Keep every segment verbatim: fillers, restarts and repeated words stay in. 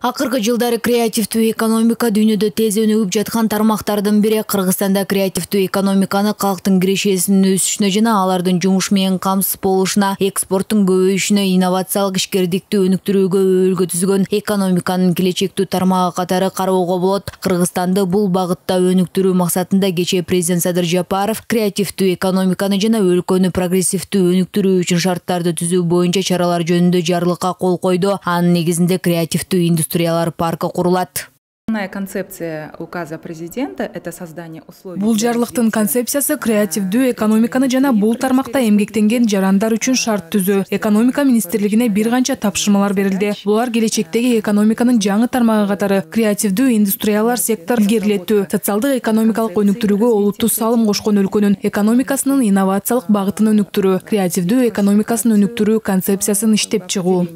Акыркы жылдары креативдүү экономика дүйнөдө тез өнүгүп жаткан тармактардын бири. Кыргызстанда креативдүү экономиканы калктын кирешесинин өсүшүнө жана алардын жумуш менен камсыз болушуна, экспорттун көбөйүшүнө, инновациялык ишкердикти өнүктүрүүгө өбөлгө түзгөн экономиканын келечектүү тармагы катары кароого болот. Кыргызстанды бул багытта өнүктүрүү максатында кечээ президент Садыр Жапаров креативдүү экономиканы жана өлкөнү прогрессивдүү өнүктүрүү үчүн шарттарды түзүү боюнча чаралар жөнүндө жарлыкка кол койду. Анын негизинде креативдүү индустриялар паркы курулат. Концепция указа президента – это создание условий. Бул жарлыктын концепциясы креативдүү экономиканы жана бул тармакта эмгектенген жарандар үчүн шарт түзүү. Экономика министрлигине бир канча тапшырмалар берилди. Булар келечектеги экономиканын жаңы тармагы катары креативдүү индустриялар сектор илгерилетүү, социалдык экономикалык өнүктүрүүгө олуттуу салым кошкон өлкөнүн экономикасынын инновациялык багытын өнүктүрүү, креативдүү экономикасын өнүктүрүү концепциясын иштеп чыгуу.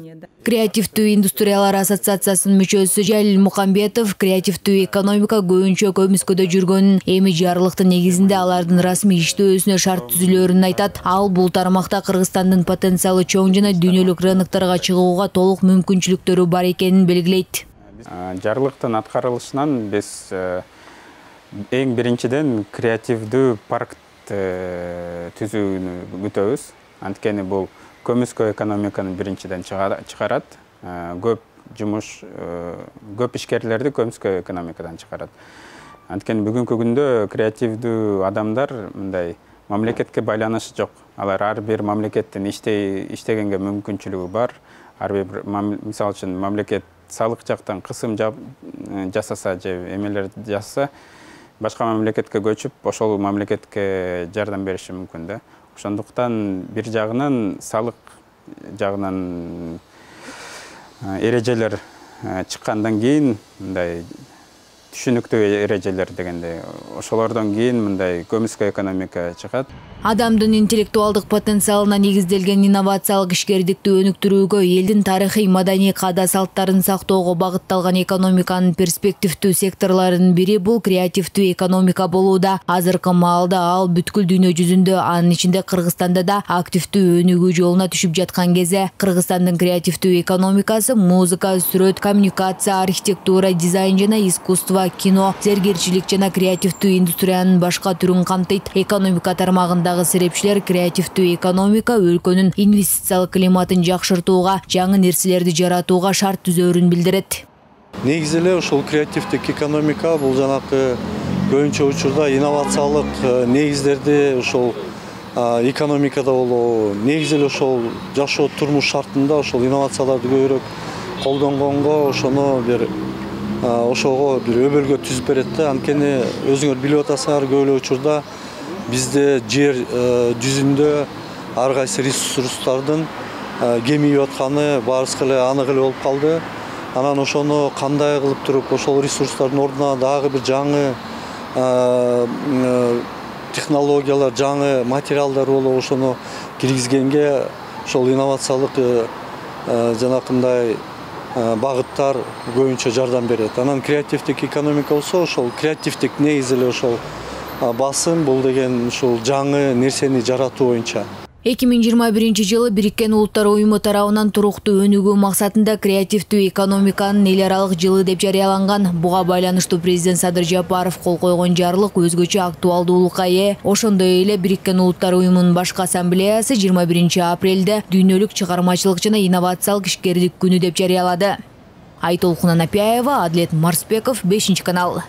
Креативдүү индустриялар ассоциациясынын мүчөсү Жалил Мукамбетов креативдүү экономика көбүнчө көмүскөдө жүргөнүн, эми жарлыктын негизинде алардын расмий иштөөсүнө шарт түзүлөрүн айтат. Ал бул тармакта Кыргызстандын потенциалы чоң жана дүйнөлүк рынокторго чыгууга толук мүмкүнчүлүктөрү бар экенин белгилейт. Жарлыктын аткарылышынан биз эң биринчиден креативдүү парк түзүүнү күтөбүз. Анткени бул көмүскө экономиканы биринчиден чыгарат, көп жумуш, көп ишкерлерди көмүскө экономикадан чыгарат. Анткени бүгүнкү күндө креативдүү адамдар мындай мамлекетке байланышы жок. Алар ар бир мамлекеттин иштегенге мүмкүнчүлүгү бар. Ар бир мисалы үчүн мамлекет салык жактан кысым жасаса же эмелер жасаса, башка мамлекетке көчүп, ошол мамлекетке жардам бериши мүмкүн да. Ошондуктан бир жагынан салык жагынан эрежелер чыккандан кийин мындай түшүнүктүү эрежелер дегенде ошолордон кийин мындай көмүскө экономика чыгат. Адамдын интеллектуалдык потенциалына негизделген инновациялык ишкердикти өнүктүрүүгө, элдин тарыхый маданий каада салттарын сактоого багытталган экономиканын перспективдүү секторлорунун бири бул креативдүү экономика болууда. Азыркы маалда ал бүткүл дүйнө жүзүндө, анын ичинде Кыргызстанда да активдүү өнүгүү жолуна түшүп жаткан кезде. Кыргызстандын креативдүү экономикасы музыка, сүрөт, коммуникация, архитектура, дизайн жана искусство, кино, зергерчилик жана креативдүү индустриянын башка түрүн камтыйт. Экономика тармагындагы серепчилер креативдүү экономика өлкөнүн инвестициялык климатын жакшыртууга, жаңы нерселерди жаратууга шарт түзөөрүн билдирет. Негизи эле ушул креативдик экономика бул жанакы көбүнчө учурда инновациялык негиздерди ошол экономикада болобу, негизи эле ошол жашоо турмуш шартында ошол инновацияларды көбүрөөк колдонгонго, ошону бир ошого бир өбөлгө түзүп берет да. Анткени өзүңөр билип атасыңар, көп эле учурда бизде жер жүзүндө ар кайсы ресурстардын кемип атканы баарыбызга эле анык эле болуп калды. Анан ошону кандай кылып туруп ошол ресурстардын ордуна дагы бир жаңы технологиялар, жаңы материалдар болуп ошону киргизгенге ошол инновациялык жанакындай багыттар көбүнчө жардам берет. Анан креативдик экономика болсо ошол креативдик негизи эле ошол басым, бул деген ушул жаңы нерсени жаратуу боюнча. эки миң жыйырма биринчи жылы Бириккен Улуттар уюму тарабынан туруктуу өнүгүү максатында креативдүү экономиканын эл аралык жылы деп жарыяланган. Буга байланыштуу президент Садыр Жапаров кол койгон жарлык өзгөчө актуалдуулукка ээ. Ошондой эле Бириккен Улуттар уюмунун башкы ассамблеясы жыйырма биринчи апрелде дүйнөлүк чыгармачылык жана инновациялык ишкердик күнү деп жарыялады. Айтолкун Анапияева, Адлет Марсбеков, бешинчи канал.